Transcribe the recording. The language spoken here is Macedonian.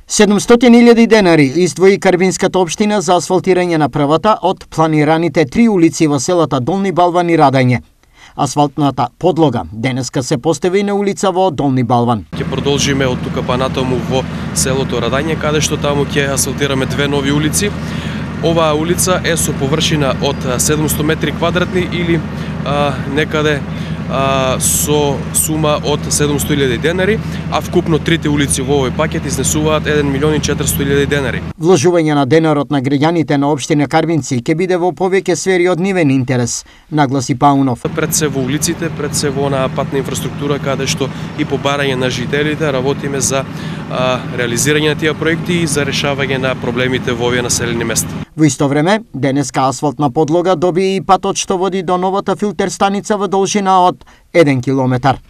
700.000 денари издвои Карвинската општина за асфалтирање на првата од планираните 3 улици во селата Долни Балван и Радање. Асфалтната подлога денеска се постави на улица во Долни Балван. Ќе продолжиме од тука па натаму во селото Радање, каде што таму ќе асфалтираме 2 нови улици. Оваа улица е со површина од 700 метри квадратни или некаде со сума од 700.000 денари, а вкупно трите улици во овој пакет изнесуваат 1.400.000 денари. Вложување на денарот на граѓаните на општина Карвинци ќе биде во повеќе сфери од нивен интерес, нагласи Паунов. Пред се во улиците, пред се во на патна инфраструктура, каде што и по барање на жителите работиме за реализирање на тие проекти и за решавање на проблемите во овие населени места. Во исто време, денеска асфалтна подлога доби и патот што води до новата филтер станица во должина од 1 километар.